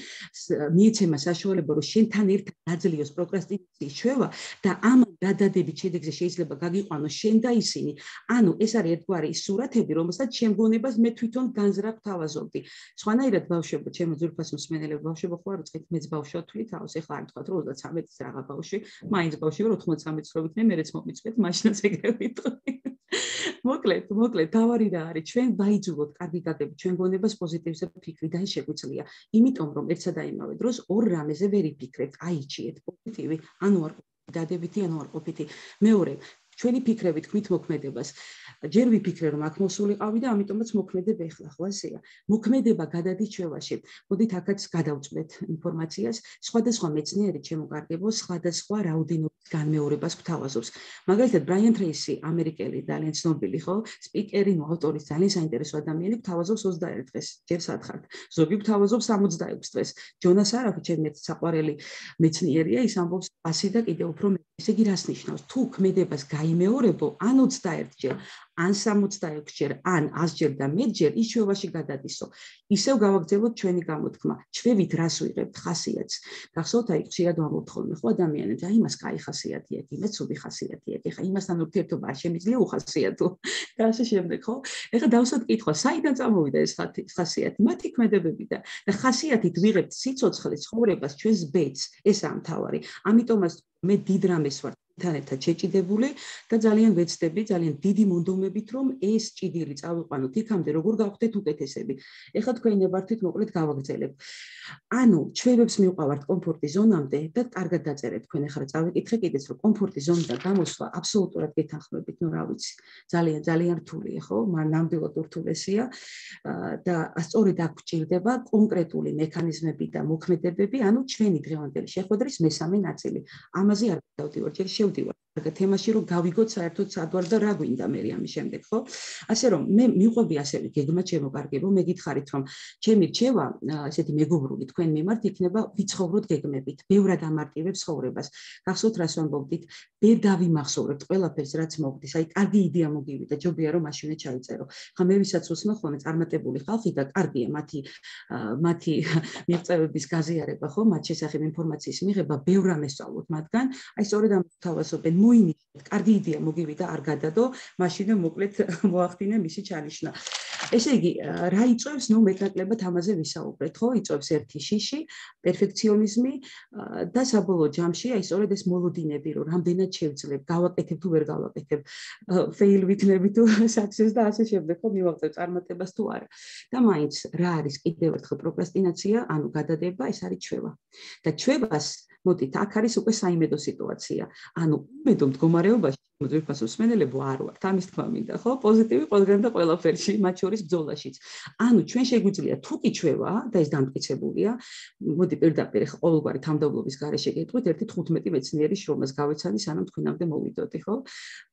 მიეცემა საშუალება, რომ შენთან ერთად დაძლიოს პროკრასტინაციის ჩვევა და ამან გადადებით შედეგზე შეიძლება გაგიყვანოს შენ და ისინი. ანუ ეს არის ერთგვარი სურათები, რომელსაც შემგონებას მე თვითონ განზრახ თავაზობდი. სხვანაირად ბავშვებო, ჩემო ძვირფას მსმენელებ ბავშვებო ხო არ უწყეთ, მეც ბავშვად თვლით თავს, ეხლა არ თქვათ რომ ოცდათრამეტ წლის რაღა ბავშვი, მაინც ბავშვი ვარ ოთხმოცდამეტ წლის რო ვიქნე, მეც მომიწვეთ, მაშინაც ეგრე ვიტყვი. მოკლედ, მოკლედ, თავარი რა არის, ჩვენ ვაიძულოთ კარგი გაგებით, ჩვენ გონებას პოზიტივზე ფიქრი და ის შეგვიძლია. იმიტომ რომ ერთსა და იმავე დროს ორ რამეზე ვერ იფიქრებთ, აიჩიეთ პოზიტივი, ანუ არ დადებითი, ანუ არ ყოფითი. მეორე, ჩვენი ფიქრები თქვით მოქმედებას. ჯერ ვიფიქრე რომ აქ მოსულიყავი და ამიტომაც მოქმედებ ეხლა, ხო ასეა. მოქმედება გადადის ჩვევაში. მოდით აქაც გადავწყვეტ ინფორმაციას. სხვადასხვა მეცნიერი ჩემოგარგებო, სხვადასხვა რაოდენობის განმეორებას გვთავაზობს. მაგალითად, ბრაიან ტრეისი, ამერიკელი ძალიან ცნობილი, ხო, სპიკერი, ავტორი, ძალიან საინტერესო ადამიანი, გვთავაზობს ოცდაერთ დღეს. ჯერ სათხართ. ზოგი გვთავაზობს სამოცდაექვსი დღეს. ჯონას არაფი, ჩემი საყვარელი მეცნიერია, ის ამბობს ასი და კიდევ უფრო მეტი. ესე იგი, რას ნიშნავს? თუ ქმედებას გაიმეორებო, ან ოცდაერთჯერ, ან სამოცდაექვსი ჯერ, ან ას ჯერ და მეტჯერ ის ჩვევაში გადადისო. ისევ გავაგრძელოთ ჩვენი გამოთქმა. ჩვევით რას ვიღებთ ხასიათს. გახსოვთ, აი ხშირად ვამბობთ ხოლმე, ხო ადამიანებს, აი იმას კაი ხასიათი აქვს, იმას ცუდი ხასიათი აქვს. ეხლა იმასთან ურთიერთობა არ შემიძლია უხასიათო. და ასე შემდეგ, ხო? ეხლა დავსვათ კითხვა, საიდან წამოვიდა ეს ხასიათი? მათი ქმედებებიდან. და ხასიათით ვიღებთ სიცოცხლეს, ცხოვრებას, ჩვენს ბედს. ესაა მთავარი. ამიტომაც მე დიდ რამეს ვარ ინტერნეტად შეჭიდებული და ძალიან ვეცდები, ძალიან დიდი მონდომებით, რომ ეს ჭიდილი წავიყვანოთ იქამდე, როგორ გავხდეთ უკეთესები. ეხლა თქვენ ნებართვით მოკლედ გავაგრძელებ. ანუ ჩვენებს მივყავართ კომფორტის ზონამდე და კარგად დაწერეთ თქვენ ახლა წავიკითხე კიდეც რომ კომფორტის ზონიდან გამოსვლა აბსოლუტურად გეთანხმებით, ნუ რა ვიცი. ძალიან ძალიან რთულია, ხო? მაგრამ ნამდვილად ურთულესია და სწორედ აქ გვჭირდება კონკრეტული მექანიზმები და მოქმედებები, ანუ ჩვენი დღევანდელი შეხვედრის მესამე ნაწილი. ამაზე არ დავდივარ, ჯერ შევდივარ კარგად თემაში, რომ გავიგოთ საერთოდ სადვარ და რა გვინდა მე ამის შემდეგ, ხო? ასე რომ მე მიყვები ასევე გეგმა ჩემო კარგებო, მეგითხარით რომ ჩემი რჩევა, ესეთი მეგობრული თქვენ მიმართ იქნება ვიცხოვროთ გეგმებით, ბევრად ამარტივებს ცხოვრებას. გახსოვთ რას ვამბობდით? ვერ დავიმახსოვრებთ ყველაფერს რაც მოგდის, აი კარგი იდეა მოგივიდა, ჯობია რომ მაშინე ჩაიწერო. ხა მე ვისაც უსმენ ხოლმე წარმატებული ხალხი და კარგია მათი მათი მიღწევების გაზიარება, ხო? მათ შესახებ ინფორმაციის მიღება, ბევრ რამეს სწავლობთ მათგან. აი სწორედ ამ თავასობენ მოინიშნეთ, კარგი იდეა მოგივიდა, არ გადადო, მაშინე მოკლედ მოახდინე მისი ჩანიშვნა. ესე იგი, რა იწვევს, ნუ მეტნაკლებად ამაზე ვისაუბრეთ, ხო? იწვევს ერთი შიში, პერფექციონიზმი და საბოლოო ჯამში, აი სწორედ ეს მოლოდინები, რომ რამდენად შევძლებ, გავაკეთებ თუ ვერ გავაკეთებ, fail ვიქნები თუ success და ასე შემდეგ, ხო, მივაღწევ წარმატებას თუ არა. და მაინც რა არის კიდევ ერთხელ პროკრასტინაცია, ანუ გადადება, ეს არის ჩვევა. და ჩვევას მოდით, აქ არის უკვე საიმედო სიტუაცია. ანუ იმედო მდგომარეობაში ძვირფას უსმენელებო არ ვართ, ამის თქმა მინდა, ხო? პოზიტივი ყველგან და ყველაფერში, მათ შორის ბრძოლაშიც. ანუ ჩვენ შეგვიძლია თუ კი ჩვევა და ეს დამტკიცებულია, მოდი პირდაპირ ყოველგვარი თავმდაბლობის გარეშე გეტყვით ერთი თხუთმეტი მეცნიერის შრომას გავეცანი, სანამ თქვენამდე მოვიდოდი, ხო?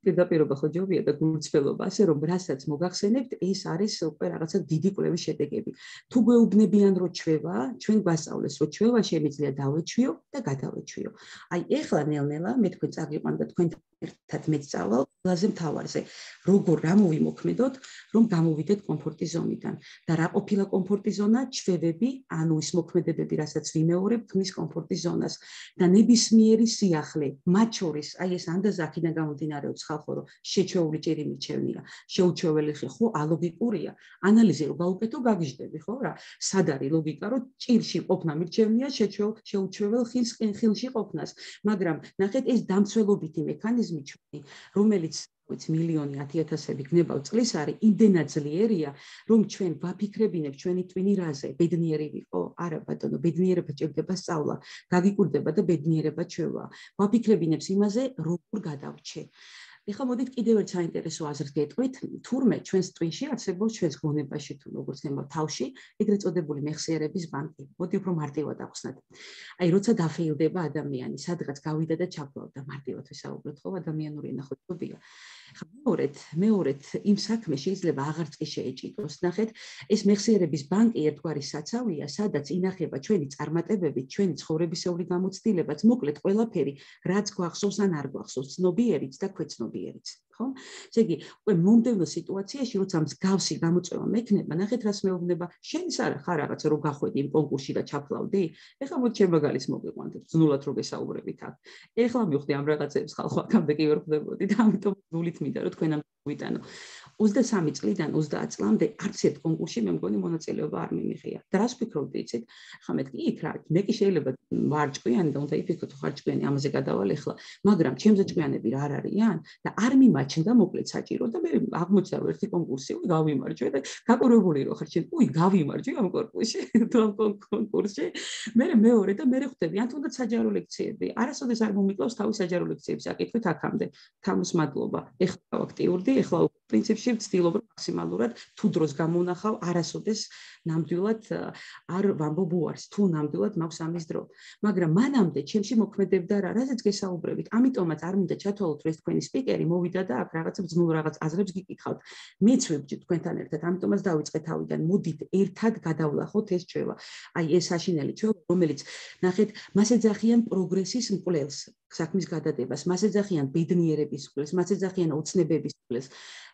პირდაპირობა ხო ჯობია და გულწრფელობა, ასე რომ რასაც მოგახსენებთ, ეს არის უკვე რაღაცა დიდი კვლევის შედეგები. თუ გვეუბნებიან რომ ჩვევა, ჩვენ გვასწავლეს რომ ჩვევა შემიძლია დავეჩვიო და გადავეჩვიო. აი ეხლა ნელ-ნელა მე თქვენ წაგიყვან და თქვენ ერთად მეწავალ ყველაზე მთავარზე, როგორ რა მოვიმოქმედოთ, რომ გამოვიდეთ კომფორტის ზონიდან. და რა ყოფილა კომფორტის ზონა? ჩვევები, ანუ ის მოქმედებები, რასაც ვიმეორებ თმის კომფორტის ზონას. და ნებისმიერი სიახლე, მათ შორის, აი ეს ანდაზ აქედან გამომდინარეობს ხალხო, რომ შეჩვეული ჭირი მიჩევნია, შეუჩვეველი ხე, ხო, ალოგიკურია. ანალიზი რო გავუკეთო, გაგიჟდები, ხო რა? სად არის ლოგიკა, რომ ჭირში ყოფნა მიჩევნია შეუჩვეველ ხილს ხილში ყოფნას. მაგრამ ნახეთ ეს დამცველობითი მექანიზმი ჩვენი, რომელიც ვიცი მილიონი ათიათასები გნებავ წლის არის იმდენად ძლიერია, რომ ჩვენ ვაფიქრებინებ ჩვენი ტვინი რაზე, ბედნიერი ვიყო, არა ბატონო, ბედნიერება ჭირდება სწავლა, გაგიკურდება და ბედნიერება ჩვევა. ვაფიქრებინებს იმაზე, როგორ გადავრჩე. ეხლა მოდით კიდევ ერთ საინტერესო აზრს გეტყვით, თურმე ჩვენს ტვინში არსებობს ჩვენს გონებაში თუ როგორც ნება თავში, ეგრეთ წოდებული მეხსიერების ბანკი. მოდი უფრო მარტივად ახსნათ. აი როცა დაფეილდება ადამიანი, სადღაც გავიდა და ჩაფლავდა, მარტივად ვისაუბროთ, ხო, ადამიანური ენა ხო ჯობია. ხა მეორედ, მეორედ იმ საქმე შეიძლება აღარც კი შეეჭიდოს. ნახეთ, ეს მეხსიერების ბანკი ერთგვარი საცავია, სადაც ინახება ჩვენი წარმატებები, ჩვენი ცხოვრებისეული გამოცდილებაც, მოკლედ ყველაფერი, რაც გვახსოვს ან არ გვახსოვს, ცნობიერიც და ქვეცნობიერიც. ხო? ესე იგი, უკვე მომდევნო სიტუაციაში, როცა მსგავსი გამოწვევა მექნება, ნახეთ რას მეუბნება, შენის არა ხარ რაღაცა რომ გახვედი იმ კონკურსში და ჩაფლავდი? ეხლა მოდი ჩემ მაგალითს მოგიყვანთ, ძნულად რო გესაუბრებით აქ. ეხლა მივხვდი ამ რაღაცებს ხალხო აქამდე კი ვერ ხვდებოდი და ამიტომ გულით მინდა რომ თქვენ ამ ვიტანო. ოცდასამი წლიდან ოცდაათ წლამდე არც ერთ კონკურსში მე მგონი მონაწილეობა არ მიმიღია. და რას ვფიქრობდი, იცით? ხა მე კი იქ რა, მე კი შეიძლება ვარ ჭკვიანი და უნდა იფიქროთ ხარ ჭკვიანი, ამაზე გადავალ ეხლა, მაგრამ ჩემზე ჭკვიანები რა არ არიან და არ მიმაჩნდა მოკლედ საჭირო და მე აღმოჩნდა რომ ერთი კონკურსი უი გავიმარჯვე და გაკურებული რო ხარ შენ, უი გავიმარჯვე ამ კონკურსში, თუ ამ კონკურსში. მე მეორე და მე ხვდები, ან თუნდაც საჯარო ლექციები. არასოდეს არ მომიკლავს თავის საჯარო ლექციების აკითხვით აქამდე. თამის მადლობა. ეხლა აქტიურდი, ეხლა პრინციპში ვცდილობ რომ მაქსიმალურად თუ დროს გამონახავ, არასოდეს ნამდვილად არ ვამბობ უარს, თუ ნამდვილად მაქვს ამის დრო. მაგრამ მანამდე ჩემში მოქმედებდა რა, რაზეც გესაუბრებით. ამიტომაც არ მინდა ჩათვალოთ, რომ ეს თქვენი სპიკერი მოვიდა და აქ რაღაცა ბრძნულ რაღაც აზრებს გიკითხავთ. მეც ვებჭით თქვენთან ერთად, ამიტომაც დავიწყე თავიდან. მოდით ერთად გადავლახოთ ეს ჩვევა. აი ეს საშინელი ჩვევა, რომელიც ნახეთ, მას ეძახიან პროგრესის მკვლელს, საქმის გადადებას, მას ეძახიან ბედნიერების მკვლელს, მას ეძახიან ოცნებების მკვლელს.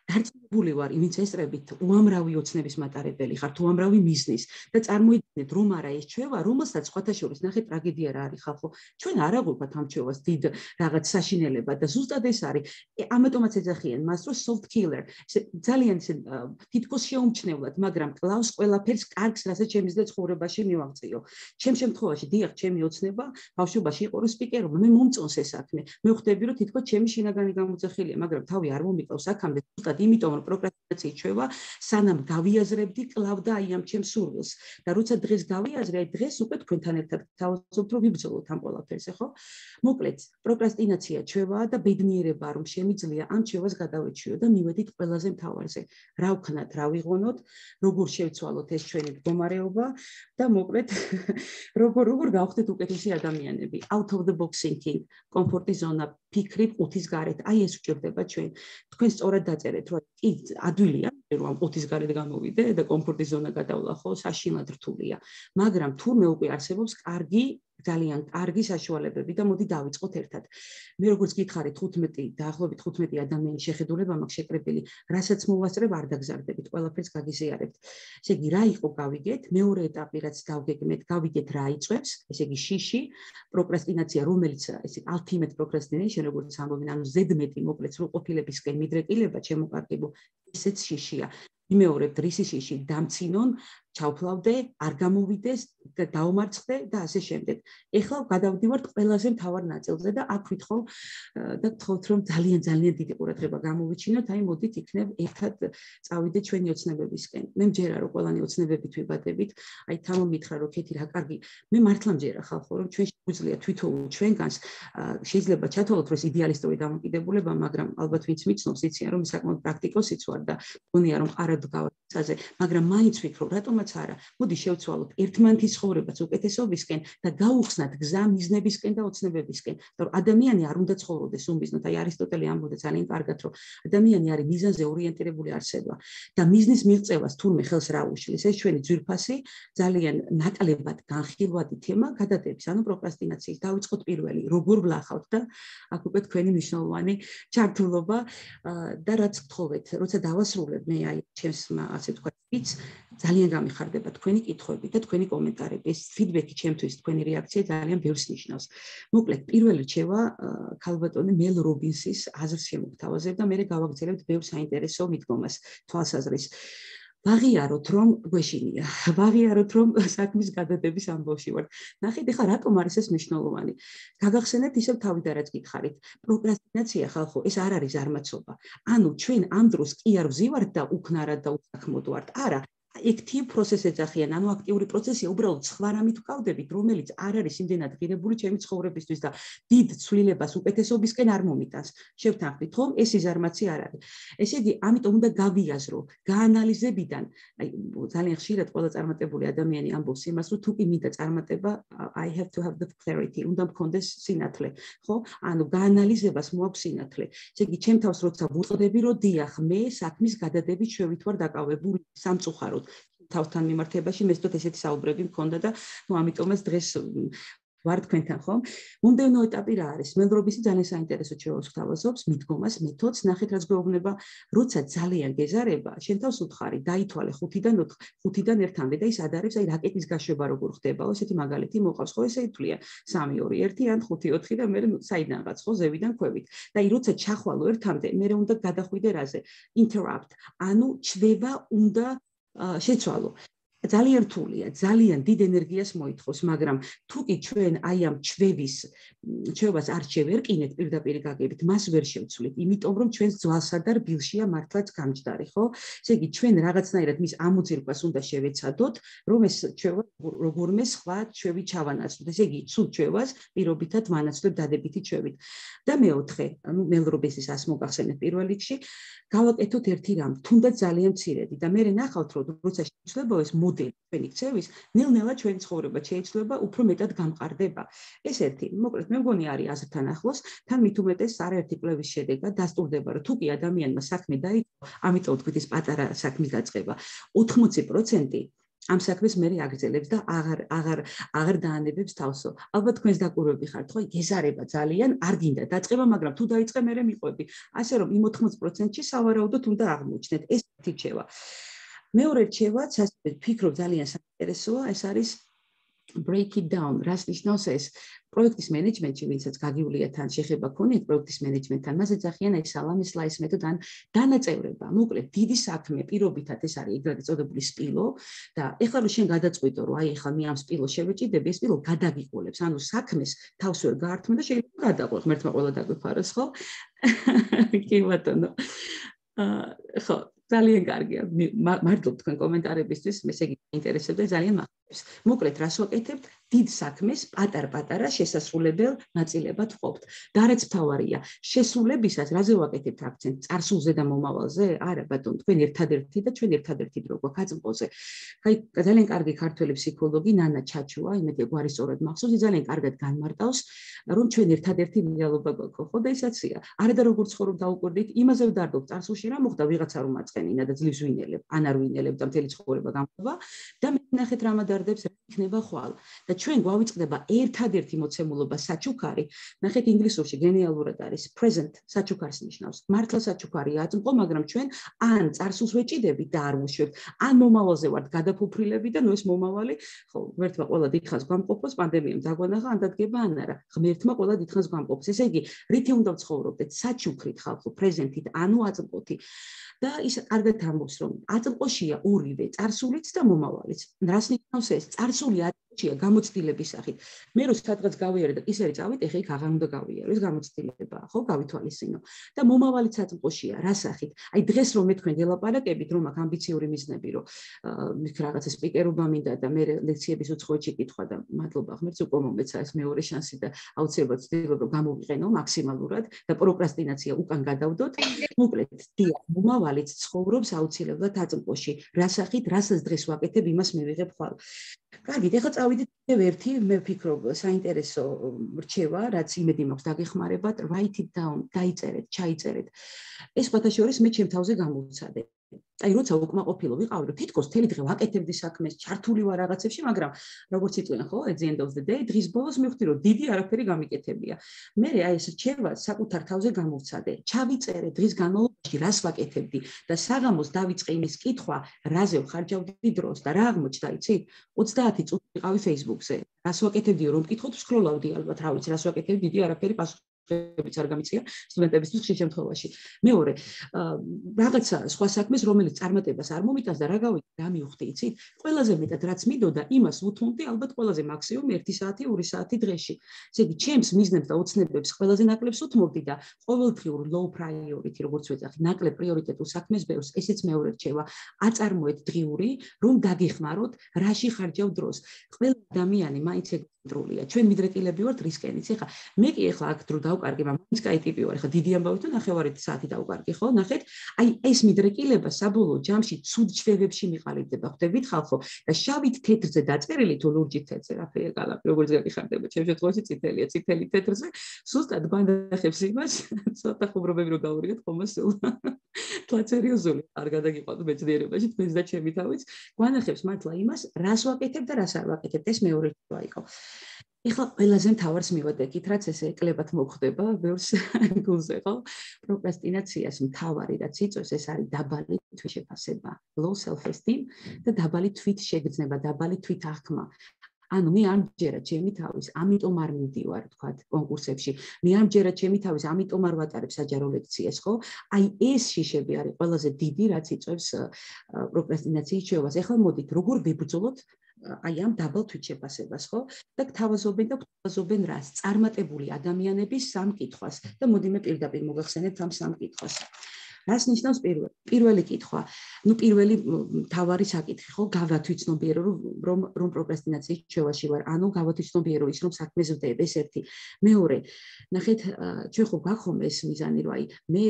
დარწმუნებული ვარ, ვინც ესწრებით უამრავი ოცნების მატარებელი ხართ, უამრავი მიზნის და წარმოიდგინეთ, რომ არა ეს ჩვევა, რომელსაც სხვათა შორის ნახეთ ტრაგედია რა არის ხალხო. ჩვენ არ აღვიქვათ ამ ჩვევას დიდ რაღაც საშინელება და ზუსტად ეს არის. ამიტომაც ეძახიან მას, რომ soft killer. ძალიან თითქოს შეუმჩნევლად, მაგრამ კლავს ყველაფერს კარგს, რასაც ჩემს და ცხოვრებაში მივაღწიო. ჩემ შემთხვევაში დიახ, ჩემი ოცნება ბავშვობაში იყო რომ სპიკერო, მე მომწონს ეს საქმე. მე ხვდები რომ თითქოს ჩემი შინაგანი გამოძახილია, მაგრამ თავი არ მომიყავს აქამდე. იმიტომ რომ პროკრასტინაციის ჩვევა სანამ გავიაზრებდი კლავდა აი ამ ჩემს სურვილს და როცა დღეს გავიაზრე აი დღეს უკვე თქვენთან ერთად თავაზობთ რომ ვიბრძოლოთ ამ ყველაფერზე ხო მოკლედ პროკრასტინაცია ჩვევაა და ბედნიერება რომ შემიძლია ამ ჩვევას გადავეჩვიო და მივედით ყველაზე მთავარზე რა ვქნათ რა ვიღონოთ როგორ შევცვალოთ ეს ჩვენი მდგომარეობა და მოკლედ როგორ როგორ გავხდეთ უკეთესი ადამიანები out of the box thinking კომფორტის ზონა ფიქრი ყუთის გარეთ აი ეს უჭირდება ჩვენ თქვენ სწორად დაწერეთ რომ კი ადვილია რომ ამ ყუთის გარეთ გამოვიდე და კომფორტის ზონა გადავლახო საშინლად რთულია მაგრამ თურმე უკვე არსებობს კარგი ძალიან კარგი საშუალებები და მოდი დავიწყოთ ერთად. მე როგორც გითხარით ხუთმეტი დაახლოებით ხუთმეტი ადამიანის შეხედულება მაქვს შეკრებილი, რასაც მოვასწრებ არ დაგზარდებით, ყველაფერს გაგიზიარებთ. ესე იგი, რა იყო გავიგეთ? მეორე ეტაპი რაც დავგეგმეთ, გავიგეთ რა იწვევს, ესე იგი შიში, პროკრასტინაცია, რომელიც ესე ultimate procrastination, როგორც ამბობენ, ანუ ზედმეტი მოკლედ სრულყოფილებისკენ მიდრეკილება, ჩემოყარკიბო, ესეც შიშია. იმეორებთ რისი შიში დამცინონ ჩავფლავდე, არ გამოვიდეს და დაუმარცხდე და ასე შემდეგ. ეხლა გადავდივართ ყველაზე მთავარ ნაწილზე და აქ ვითხოვ და გთხოვთ რომ ძალიან ძალიან დიდი ყურადღება გამოვიჩინოთ, აი მოდით იქნებ ერთად წავიდე ჩვენი ოცნებებისკენ. მე მჯერა რომ ყველანი ოცნებებით ვიბადებით, აი თამო მითხრა რომ ქეთი რა კარგი, მე მართლა მჯერა ხალხო რომ ჩვენ შეგვიძლია თვითონ ჩვენგანს შეიძლება ჩათვალოთ რომ ეს იდეალისტური დამოკიდებულება, მაგრამ ალბათ ვინც მიცნობს იციან რომ საკმაოდ პრაქტიკოსიც ვარ და მგონია რომ ყარად გავაცაზე, მაგრამ მაინც ვფიქრობ რატომ არა, მოდი შევცვალოთ ერთმანეთის ცხოვრებას უკეთესობისკენ და გაუხსნათ გზა მიზნებისკენ და ოცნებებისკენ. და ადამიანი არ უნდა ცხოვრობდეს უმიზნოდ. აი არისტოტელე ამბობდა ძალიან კარგად, რომ ადამიანი არის მიზანზე ორიენტირებული არსება და მიზნის მიღწევას თურმე ხელს რა უშლის. ეს ჩვენი ძვირფასი, ძალიან ნაკლებად განხილვადი თემა გადადების, ანუ პროკრასტინაციის. დავიწყოთ პირველი, როგორ ვლახავთ და აქ უკვე თქვენი მნიშვნელოვანი ჩართულობა და რაც გთხოვეთ, როცა დავასრულებ მე აი ჩემს ასე თქვა ვიც ძალიან გამიხარდება თქვენი კითხვები და თქვენი კომენტარები. ეს ფიდბექი ჩემთვის, თქვენი რეაქცია ძალიან ბევრს ნიშნავს. მოკლედ, პირველი რჩევა ქალბატონი მელ რობინსის აზრს შემოგთავაზებ და მე გავაგრძელებთ ბევრ საინტერესო მიდგომას, თვალსაზრისს. ვაღიაროთ რომ გვეშინია, ვაღიაროთ რომ საქმის გადადების ამბავში ვართ. ნახეთ, ეხლა რატომ არის ეს მნიშვნელოვანი? გაგახსენებთ ისევ თავიდან რაც გითხარით. პროკრასტინაცია ხალხო, ეს არ არის ზარმაცობა. ანუ ჩვენ ამ დროს კი არ ვზივართ და უქნარად და უსაქმოდ ვართ. არა, active process ეძახიან, ანუ აქტიური პროცესია, უბრალოდ სხვა რამით ვკავდებით, რომელიც არ არის იმდენად ღირებული ჩემი ცხოვრებისთვის და დიდ ცვლილებას უკეთესობისკენ არ მომიტანს. შევთანხმდით, ხომ? ეს იზარმაცი არ არის. ესე იგი, ამიტომ უნდა გავიაზრო, გაანალიზებიდან, აი ძალიან ხშირად ყველა წარმატებული ადამიანი ამბობს იმას, რომ თუ კი მინდა წარმატება, I have to have the clarity, უნდა მქონდეს სინათლე, ხო? ანუ გაანალიზებას მოაქვს სინათლე. ესე იგი, ჩემ თავს როცა ვუწყდები, რომ დიახ, მე საქმის გადადებით შევით ვარ დაკავებული სამწუხაროდ თავთან მიმართებაში მე ვთქვით ესეთი საუბრები მქონდა და ნუ ამიტომაც დღეს ვარ თქვენთან ხომ მომდევნო ეტაპი რა არის მელრობისი ძალიან საინტერესო ჩვენს გვთავაზობს მიდგომას მეთოდს ნახეთ რაც გვეუბნება როცა ძალიან გეზარება შენ თავს უთხარი დაითვალე ხუთიდან ხუთიდან ერთამდე და ის ადარებს აი რაკეტის გაშვება როგორ ხდებაო ესეთი მაგალითი მოყავს ხო ესე ითვლიან სამი ორი ერთი ან ხუთი ოთხი და მე საიდანღაც ხო ზევიდან ქვევით და აი როცა ჩახვალო ერთამდე მე უნდა გადახვიდე რაზე interrupt ანუ ჩვევა უნდა შეცვალო ძალიან რთულია, ძალიან დიდ ენერგიას მოითხოვს, მაგრამ თუ კი ჩვენ აი ამ ჩვევის ჩვევას არ შევერკინეთ პირდაპირ გაგებით, მას ვერ შევცვლით, იმიტომ რომ ჩვენს ძვალსა და რბილშია მართლაც გამჯდარი, ხო? ესე იგი ჩვენ რაღაცნაირად მის ამოძირკვას უნდა შევეცადოთ, რომ ეს ჩვევა როგორმე სხვა ჩვევი ჩავანაცვლოთ. ესე იგი, ცუდ ჩვევას პირობითად ვანაცვლებ დადებითი ჩვევით. და მეოთხე, ანუ მელრობესის ას მოგახსენეთ პირველ რიგში, გავაკეთოთ ერთი რამ, თუნდაც ძალიან მცირედი და მე ნახავთ, რომ როცა შეცვლებო ეს მოდელი ჩვენი ქცევის, ნელ-ნელა ჩვენი ცხოვრება შეიცვლება, უფრო მეტად გამყარდება. ეს ერთი, მოკლედ მე მგონი არის აზრთან ახლოს, თან მით უმეტეს არაერთი კვლევის შედეგად დასტურდება, რომ თუ კი ადამიანმა საქმე დაიწყო, ამიტომ თქვით ის პატარა საქმის დაწყება, ოთხმოცი პროცენტი ამ საქმეს მე აგრძელებს და აღარ აღარ აღარ დაანებებს თავსო. ალბათ თქვენს დაკვირვები ხართ, ხო? გეზარება ძალიან, არ გინდა დაწყება, მაგრამ თუ დაიწყე, მე მიყვები. ასე რომ იმ ოთხმოცი პროცენტში სავარაუდოდ უნდა აღმოჩნდეთ. ეს ერთი რჩევა. მეორე რჩევაც, ასე ვფიქრობ, ძალიან საინტერესოა, ეს არის break it down. რას ნიშნავს ეს? პროექტის მენეჯმენტში, ვინცაც გაგივლია თან შეხება ქონიეთ პროექტის მენეჯმენტთან, მას ეძახიან ეს სალამის სლაის მეთოდი ან დანაწევრება. მოკლედ, დიდი საქმე პირობითად ეს არის ეგრეთ წოდებული სპილო და ეხლა რომ შენ გადაწყვიტო, რომ აი ეხლა მე ამ სპილოს შევეჭიდები, ეს სპილო გადაგიყოლებს, ანუ საქმეს თავს ვერ გაართმევ და შეიძლება გადაყვე, ღმერთმა ყველა დაგვიფაროს, ხო? კი ბატონო. აა ხო, ძალიან კარგია. მადლობ თქვენ კომენტარებისთვის, მე ესე იგი ინტერესებდა ძალიან მახარებს. მოკლედ, რას ვაკეთებთ? დიდ საქმეს პატარ-პატარა შესასრულებელ ნაწილებად ვყოფთ. და რაც მთავარია, შესრულებისას რაზე ვაკეთებთ აქცენტს? წარსულზე და მომავალზე? არა, ბატონო, თქვენ ერთადერთი და ჩვენ ერთადერთი დრო გვაქვს აწმყოზე. აი, ძალიან კარგი ქართველი ფსიქოლოგი ნანა ჩაჩუა, იმედი გვარი სწორად მახსოვს, ძალიან კარგად განმარტავს, რომ ჩვენ ერთადერთი რეალობა გვაქვს, ხო და ისაცია. არა და როგორ ცხოვრობ დაუკვირდით, იმაზე ვდარდობ წარსულში რა მოხდა, ვიღაცა რომ აწყენინა და ძლივს ვინელებ, ან არ ვინელებ და მთელი ცხოვრება გამხდება და მე ნახეთ რა მადარდებს, რა იქნება ხვალ. და ჩვენ გვავიწყდება ერთადერთი მოცემულობა საჩუქარი, ნახეთ ინგლისურში გენიალურად არის present საჩუქარს ნიშნავს. მართლა საჩუქარია აწმყო, მაგრამ ჩვენ ან წარსულს ვეჭიდებით და არ ვუშვებთ, ან მომავალზე ვართ გადაფუფრილები და ნუ ეს მომავალი, ხო, ღმერთმა ყველა დიდხანს გვამყოფოს, პანდემიამ დაგვანახა, ან დადგება ან არა. ღმერთმა ყველა დიდხანს გვამყოფოს. ესე იგი, რითი უნდა ვცხოვრობდეთ? საჩუქრით ხალხო, present-ით, ანუ აწმყოთი. და ის კარგად ამბობს, რომ აწმყოშია ორივე, წარსულიც და მომავალიც. რას ნიშნავს ეს? წარსული აწმყოშია გამოცდილების სახით. მე რო სადღაც გავიარე და ისე წავით, ეხა იქ აღარ უნდა გავიარო, ეს გამოცდილებაა, ხო, გავითვალისწინო. და მომავალიც აწმყოშია, რა სახით? აი დღეს რომ მე თქვენ გელაპარაკებით, რომ აქ ამბიციური მიზნები, რომ მიქ რაღაცა სპიკერობა მინდა და მე ლექციების უცხოეთში კითხვა და მადლობა ღმერთს უკვე მომეცა ეს მეორე შანსი და აუცილებლად ვცდილობ რომ გამოვიყენო მაქსიმალურად და პროკრასტინაცია უკან გადავდოთ. მოკლედ, დიახ, მომავალიც ცხოვრობს აუცილებლად აწმყოში. რა სახით, რასაც დღეს ვაკეთებ, იმას მივიღებ ხვალ. კარგით, ეხლა წავიდეთ კიდევ ერთი, მე ვფიქრობ, საინტერესო რჩევა, რაც იმედი მაქვს დაგეხმარებათ, write it down, დაიწერეთ, ჩაიწერეთ. ეს ფათაშორის მე ჩემ თავზე გამოვცადე. აი, როცა უკმაყოფილო ვიყავი, რომ თითქოს მთელი დღე ვაკეთებდი საქმეს, ჩართული ვარ რაღაცებში, მაგრამ როგორც იწვიან, ხო, at the end of the day, დღის ბოლოს მივხვდი, რომ დიდი არაფერი გამიკეთებია. მე აი ეს რჩევა საკუთარ თავზე გამოვცადე. ჩავიწერე დღის განმავლობაში რას ვაკეთებდი და საღამოს დავიწყე იმის კითხვა, რაზე ვხარჯავდი დროს და რა აღმოჩნდა, იცით? ოცდაათი წუთი ვიყავი Facebook-ზე. რას ვაკეთებდიო, რომ მკითხოთ, სკროლავდი ალბათ, რა ვიცი, რას ვაკეთებდი, დიდი არაფერი პასუხი ებიც არ გამიწია სტუდენტებისთვის ხშირ შემთხვევაში. მეორე, რაღაცა სხვა საქმეს, რომელიც წარმატებას არ მომიტანს და რა გავიგე, რა მივხვდი, იცით? ყველაზე მეტად რაც მინდოდა, იმას ვუთმობდი ალბათ ყველაზე მაქსიმუმ ერთი საათი, ორი საათი დღეში. ესე იგი, ჩემს მიზნებს და ოცნებებს ყველაზე ნაკლებს უთმობდი და ყოველდღიურ low priority, როგორც ვეძახი, ნაკლებ პრიორიტეტულ საქმეს ბევრს, ესეც მეორე რჩევა. აწარმოეთ დღიური, რომ დაგეხმაროთ, რაში ხარჯავ დროს. ყველა ადამიანი მაინც ეგრეტრულია. ჩვენ მიდრეკილები ვართ რისკენიც. ეხლა მე კი ეხლა აქ დრო დავკარგი, მაგრამ მაინც კაი ტიპი ვარ. ეხლა დიდი ამბავი თუ ნახევარი საათი დავკარგი, ხო? ნახეთ, აი ეს მიდრეკილება საბოლოო ჯამში ცუდ ჩვევებში მიყალიბდება. ხვდებით ხალხო? და შავით თეთრზე დაწერილი თუ ლურჯით თეთრზე, რაფერია კალაპი, როგორც გაგიხარდება. ჩემ შემთხვევაში წითელია, წითელი თეთრზე. სუსტად გვანახებს იმას, ცოტა ხუმრობები რო გავურიგეთ ხომ სულ. თლა სერიოზული არ გადაგიყვანთ მეცნიერებაში, თქვენს და ჩემი თავიც. გვანახებს მართლა იმას, რას ვაკეთებ და რას არ ვაკეთებ. ეს მეორე რჩევა იყო. ეხლა ყველაზე მთავარს მივადგეთ, რაც ესე ეკლებათ მოხდება ბევრს გულზე, ხო? პროკრასტინაციას მთავარი რაც იწვევს, ეს არის დაბალი თვითშეფასება, low self esteem და დაბალი თვითშეგრძნება, დაბალი თვითაღქმა. ანუ მე ამჯერად ჩემი თავის, ამიტომ არ მივდივარ, თქვათ, კონკურსებში. მე ამჯერად ჩემი თავის, ამიტომ არ ვატარებ საჯარო ლექციას, ხო? აი ეს შიშები არის ყველაზე დიდი, რაც იწვევს პროკრასტინაციის ჩვევას. ეხლა მოდით, როგორ ვიბრძოლოთ აი ამ დაბალ თვითშეფასებას, ხო? და გთავაზობენ და გთავაზობენ რას? წარმატებული ადამიანების სამ კითხვას და მოდი მე პირდაპირ მოგახსენებთ ამ სამ კითხვას. რას ნიშნავს პირველი? პირველი კითხვა. ნუ პირველი თავარი საკითხი ხო, გავათვითცნობიერო რომ რომ პროკრასტინაციის ჩვევაში ვარ. ანუ გავათვითცნობიერო ის რომ საქმეზე ვდებ, ეს ერთი. მეორე, ნახეთ, ჩვენ ხო გახომ ეს მიზანი რომ აი მე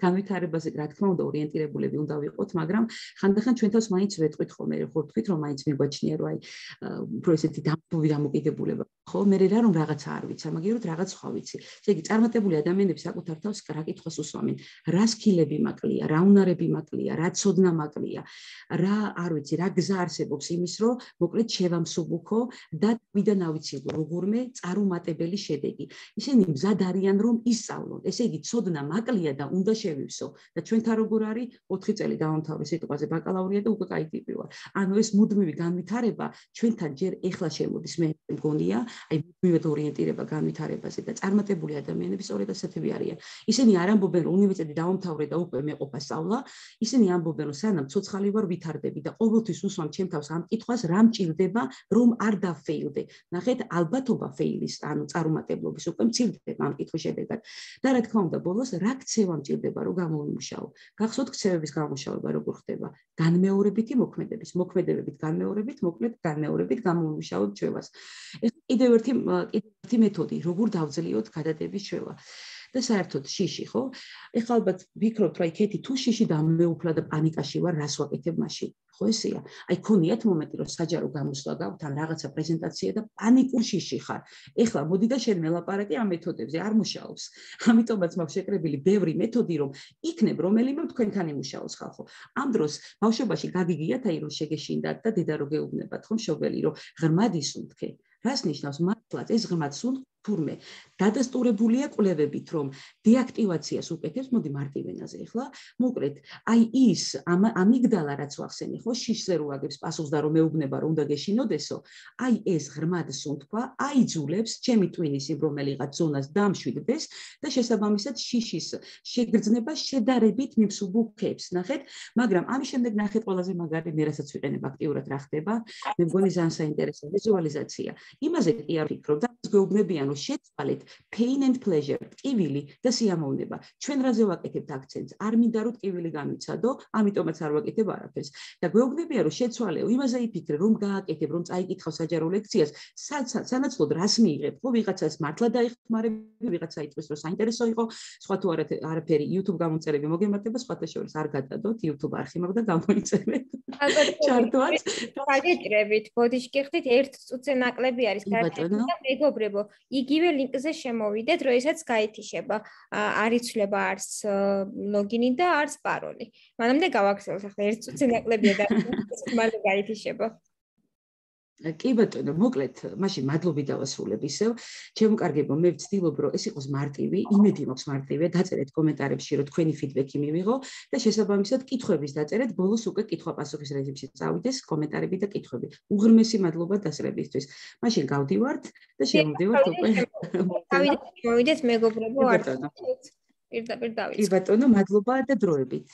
განვითარებაზე რა თქმა უნდა ორიენტირებულები უნდა ვიყოთ, მაგრამ ხანდახან ჩვენ თავს მაინც ვეტყვით ხოლმე, ხო თქვით რომ მაინც მიგვაჩნია რომ აი უფრო ესეთი დამპოვი დამოკიდებულება ხო, მე რა რომ რაღაცა არ ვიცი, მაგეროთ რაღაც სხვა ვიცი. ესე იგი წარმატებული ადამიანები საკუთარ თავს რა კითხვას უსვამენ, რა სკილები მაკლია, რა უნარები მაკლია, რა ცოდნა მაკლია, რა არ ვიცი, რა გზა არსებობს იმის რომ მოკლედ შევამსუბუქო და ვიდან ავიცილო როგორმე წარუმატებელი შედეგი. ისინი მზად არიან რომ ისწავლონ. ესე იგი ცოდნა მაკლია და უნდა შევივსო და ჩვენთან როგორ არის ოთხი წელი დავამთავრე სიტყვაზე ბაკალავრია და უკვე კაი ტიპი ვარ. ანუ ეს მუდმივი განვითარება ჩვენთან ჯერ ეხლა შემოდის მე მგონია, აი მუდმივად ორიენტირება განვითარებაზე და წარმატებული ადამიანები სწორედ ასეთები არიან. ისინი არ ამბობენ რომ უნივერსიტეტი დავამთავრე და უკვე მეყოფა სწავლა, ისინი ამბობენ რომ სანამ ცოცხალი ვარ ვითარდები და ყოველთვის უსვამ ჩემ თავს ამ კითხვას რა მჭირდება რომ არ დაფეილდე. ნახეთ, ალბათობა ფეილის, ანუ წარუმატებლობის უკვე მცირდება ამ კითხვის შედეგად. და რა თქმა უნდა, ბოლოს რა ქცევა მჭირდება რომ გამოვიმუშაო. გახსოვთ ქცევების გამომუშავება როგორ ხდება? განმეორებითი მოქმედების, მოქმედებებით განმეორებით, მოკლედ განმეორებით გამოვიმუშავოთ ჩვევას. ეს კიდევ ერთი კიდევ ერთი მეთოდი, როგორ დავძლიოთ გადადების ჩვევა. და საერთოდ შიში, ხო? ეხლა ალბათ ვფიქრობთ, რომ აი ქეთი თუ შიში დამეუფლა და პანიკაში ვარ, რას ვაკეთებ მაშინ? ხო ესეა. აი ქონიათ მომენტი, რომ საჯარო გამოსვლა გაქვთ ან რაღაცა პრეზენტაცია და პანიკურ შიში ხარ. ეხლა მოდი და შენ მელაპარაკე ამ მეთოდებზე, არ მუშაობს. ამიტომაც მაქვს შეკრებილი ბევრი მეთოდი, რომ იქნებ რომელიმე თქვენთან იმუშაოს ხალხო. ამ დროს ბავშვობაში გაგიგიათ აი რომ შეგეშინდათ და დედა რო გეუბნებათ ხო მშობელი, რომ ღრმად ისუნთქე. რას ნიშნავს მართლაც ეს ღრმად სუნთქ თურმე დადასტურებულია კვლევებით რომ დეაქტივაციას უკეთებს, მოდი მარტივენაზე ახლა, მოკლედ, აი ის ამიგდალა რაც ვახსენე, ხო, შიშზე რო აგებს პასუხს და რომ მეუბნება რომ უნდა გეშინოდესო, აი ეს ღრმად სუნთქვა აიძულებს ჩემი ტვინის იმ რომელიღაც ზონას დამშვიდდეს და შესაბამისად შიშის შეგრძნება შედარებით მიმსუბუქებს, ნახეთ, მაგრამ ამის შემდეგ ნახეთ ყველაზე მაგარი მე რასაც ვიყენებ აქტიურად რა ხდება, მე მგონი ძალიან საინტერესო ვიზუალიზაცია. იმაზე კი არ ვფიქრობ და გეუბნებიან რომ შეცვალეთ pain and pleasure, ტკივილი და სიამოვნება. ჩვენ რაზე ვაკეთებთ აქცენტს? არ მინდა რომ ტკივილი განვიცადო, ამიტომაც არ ვაკეთებ არაფერს. და გვეუბნებიან რომ შეცვალეო, იმაზე იფიქრე, რომ გააკეთებ, რომ წაიკითხავ საჯარო ლექციას, სანაცვლოდ რას მიიღებ? ხო, ვიღაცას მართლა დაიხმარები, ვიღაცა იტყვის რომ საინტერესო იყო, სხვა თუ არაფერი YouTube გამომწერები მოგემართება, სხვათა შორის არ გადადოთ, YouTube არხი მაქვს და გამოიწერეთ. ჩართვაც. გაგეჭრებით, ბოდიშკი ხდით ერთ წუთზე ნაკლები არის გაერთიანება და მეგობრებო, იგივე ლინკზე შემოვიდეთ, როდესაც გაითიშება, არ იცვლება არც ლოგინი და არც პაროლი. მანამდე გავაქცევთ, ახლა ერთ წუთზე ნაკლებია და მალე გაითიშება. კი ბატონო, მოკლედ, მაშინ მადლობი დავასრულებ ისევ. ჩემო კარგებო, მე ვცდილობ, რომ ეს იყოს მარტივი, იმედი მაქვს მარტივია, დაწერეთ კომენტარებში, რომ თქვენი ფიდბექი მივიღო და შესაბამისად კითხვების დაწერეთ, ბოლოს უკვე კითხვა-პასუხის რეჟიმში წავიდეს კომენტარები და კითხვები. უღრმესი მადლობა დასწრებისთვის. მაშინ გავდივართ და შემოვდივართ უკვე. გავიდეთ, მოვიდეთ მეგობრებო, არ პირდაპირ დავიწყოთ. კი ბატონო, მადლობა და დროებით.